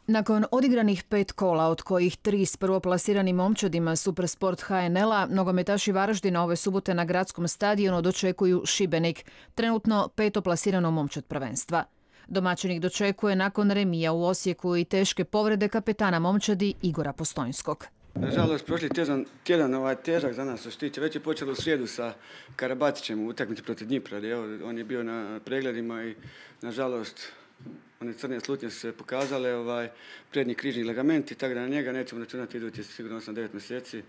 Nakon odigranih 5 kola, od kojih 3 s prvoplasiranim momčadima Supersport HNL-a, nogometaši Varaždina ove subote na gradskom stadionu dočekuju Šibenik, trenutno petoplasirano momčad prvenstva. Domaćinik dočekuje nakon remija u Osijeku i teške povrede kapetana momčadi Igora Postojnskog. Nažalost, prošli tjedan težak za nas što se tiče. Već je počelo u srijedu sa Karabatićem u utakmici protiv Dnipra. On je bio na pregledima i nažalost one crne slutnje su se pokazale, prednji križni ligamenti, tako da na njega nećemo računati idući sigurno 8-9 mjeseci.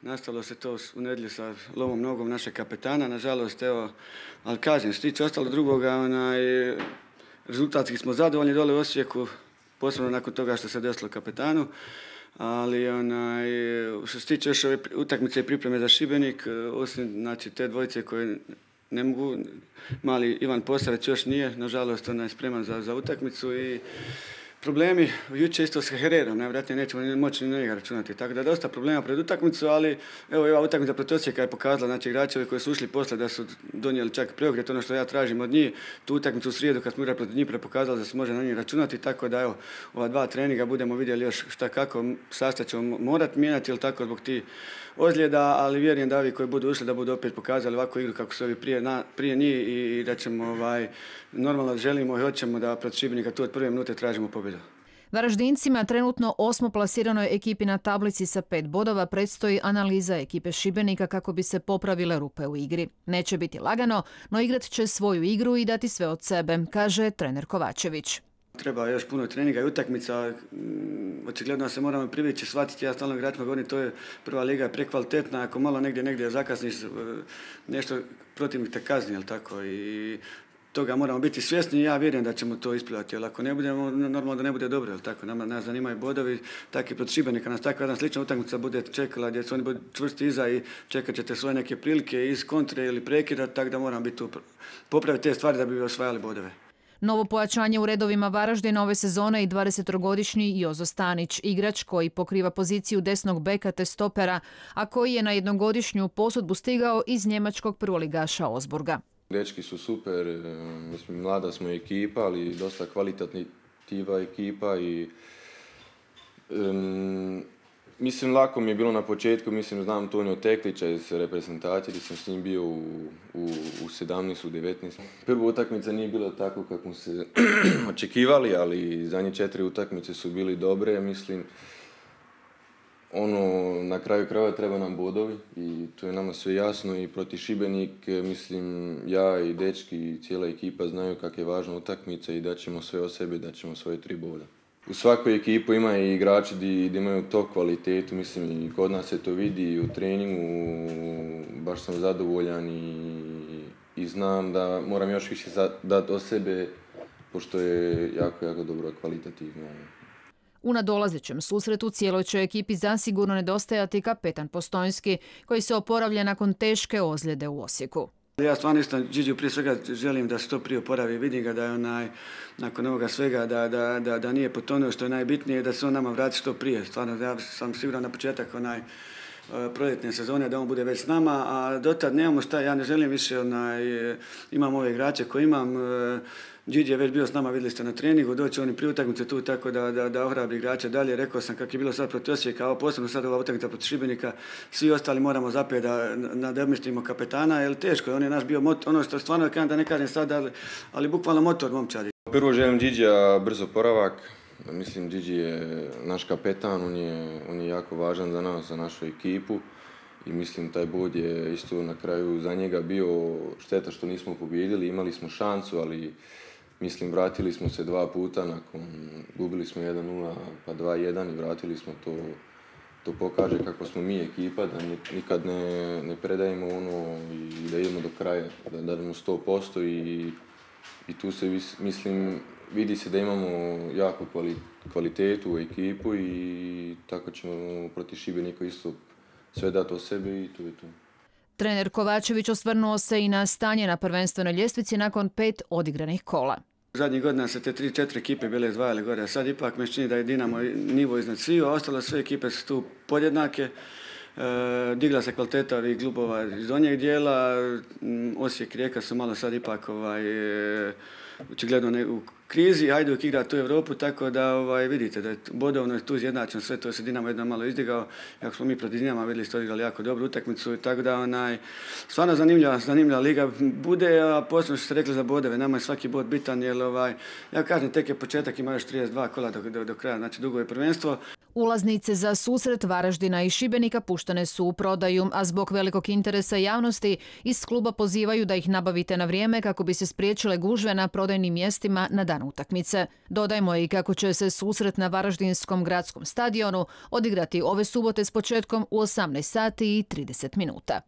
Nastalo se to u nedjelju sa lomom nogom našeg kapetana, nažalost, ali kažem, što se tiče ostalo drugoga, rezultatski smo zadovoljni dole u Osijeku, posebno nakon toga što se desilo kapetanu, ali što se tiče još ove utakmice i pripreme za Šibenik, osim te dvojice koje ne mogu, mali Ivan Posavec još nije, nažalost, spreman za utakmicu i problemi, jučer isto s Hererom, najvjerojatnije nećemo moći ni na njega računati, tako da dosta problema pred utakmicu, ali evo ova utakmica protiv Osijeka je pokazala, igračevi koji su ušli posle da su donijeli čak preokret, ono što ja tražim od njih, tu utakmicu u srijedu kad smo igrali protiv Dnipra pokazala da se može na njih računati, tako da ova 2 treninga budemo vidjeli još šta kako, sastav ćemo morati mijenjati, ili tako zbog tih ozljeda, ali vjerujem da ovi koji budu ušli da budu opet pokazali ovakvu igru kako su ovi prije njih i da ćemo normalno želimo i hoćemo da protiv Šibenika tu od prve minute tražimo pobjedu. Varaždincima trenutno 8. plasiranoj ekipi na tablici sa 5 bodova predstoji analiza ekipe Šibenika kako bi se popravile rupe u igri. Neće biti lagano, no igrat će svoju igru i dati sve od sebe, kaže trener Kovačević. Treba još puno treninga i utakmica, očigledno se moramo privići, shvatiti, ja stalno igračima govorim, to je prva liga je prekvalitetna, ako malo negdje zakasniš, nešto protivnik te kazni, jel tako, i toga moramo biti svjesni i ja vjerujem da ćemo to isplivati, jer ako ne budemo, normalno da ne bude dobro, jel tako, nas zanimaju bodovi, tako i protiv Šibenika, nas takva jedna slična utakmica bude čekala gdje su oni budu čvrsti iza i čekat ćete svoje neke prilike iz kontre ili prekida, tako da moramo biti tu, popraviti te stvari da bi osvajali bodove. Novo pojačanje u redovima Varaždina ove sezone i 20-godišnji Jozo Stanić, igrač koji pokriva poziciju desnog beka te stopera, a koji je na jednogodišnju posudbu stigao iz njemačkog prvoligaša Osburga. Dečki su super, mislim, mlada smo ekipa, ali dosta kvalitativa ekipa i mislim, lako mi je bilo na početku, mislim, znam Tonio Teklića iz reprezentacije, gdje sam s njim bio u 17, u 19. Prva utakmica nije bila tako kako smo se očekivali, ali zadnje 4 utakmice su bili dobre, mislim, na kraju krajeva treba nam bodovi i to je nama sve jasno i protiv Šibenik, mislim, ja i dečki i cijela ekipa znaju kako je važna utakmica i daćemo sve od sebe, daćemo svoje 3 boda. U svakoj ekipu ima i igrači gdje imaju to kvalitetu, mislim, i kod nas se to vidi i u treningu, baš sam zadovoljan i znam da moram još više dati od sebe, pošto je jako, jako dobro kvalitativno. U nadolazećem susretu cijeloj će ekipi zasigurno nedostajati kapetan Postojnski, koji se oporavlja nakon teške ozljede u Osijeku. Ja stvarno isto Điđiju prije svega želim da se to prije oporavi, vidim ga da je nakon ovoga svega da nije potonuo, što je najbitnije, da se on nama vrati što prije. Stvarno, ja sam siguran na početak proljetne sezone da on bude već s nama, a dotad nemamo šta, ja ne želim više, imam ove igrače koje imam, Điđi je već bio s nama, vidjeli ste na treningu, doći oni prije utakmice tu tako da ohrabri igrače dalje. Rekao sam kako je bilo sad protiv Osijeka, a posebno sad ova utakmica protiv Šibenika, svi ostali moramo zapet da nadomjestimo kapetana, jer teško je, on je naš bio motor, ono što stvarno da ne kažem sad, ali bukvalno motor momčadi. Prvo želim Điđija brzo oporavak, mislim Điđi je naš kapetan, on je jako važan za nas, za našu ekipu. I mislim taj bod je isto na kraju za njega bio šteta što nismo pobijedili, imali smo šansu, ali mislim vratili smo se 2 puta, gubili smo 1-0 pa 2-1 i vratili smo to. To pokaže kako smo mi ekipa, da nikad ne predajemo i da idemo do kraja, da dademo 100% i tu se mislim vidi se da imamo jako kvalitetu u ekipu i tako ćemo protiv Šibenika isto sve dati o sebi i to je to. Trener Kovačević osvrnuo se i na stanje na prvenstvenoj ljestvici nakon 5 odigranih kola. Zadnjih godina se te 3-4 ekipe bile izdvajale gore, a sad ipak me čini da je Dinamo nivo iznad svih, a ostalo sve ekipe su tu podjednake. Digla se kvaliteta ovih klubova iz donjeg dijela, Osijek i Rijeka su malo sad ipak očigledno u krizi, Hajduk igra tu Europu, tako da vidite da je bodovno je tu izjednačeno sve, to se Dinamo jedno malo izdigao, ako smo mi protiv Dinama vidjeli ste odigrali jako dobru utakmicu, tako da stvarno zanimljiva liga bude, a posebno što ste rekli za bodove, nama je svaki bod bitan, jer ja kažem, tek je početak, ima još 32 kola do kraja, znači dugo je prvenstvo. Ulaznice za susret Varaždina i Šibenika puštene su u prodaju, a zbog velikog interesa javnosti iz kluba pozivaju da ih nabavite na vrijeme kako bi se spriječile gužve na prodajnim mjestima na dan utakmice. Dodajmo i kako će se susret na Varaždinskom gradskom stadionu odigrati ove subote s početkom u 18 sati i 30 minuta.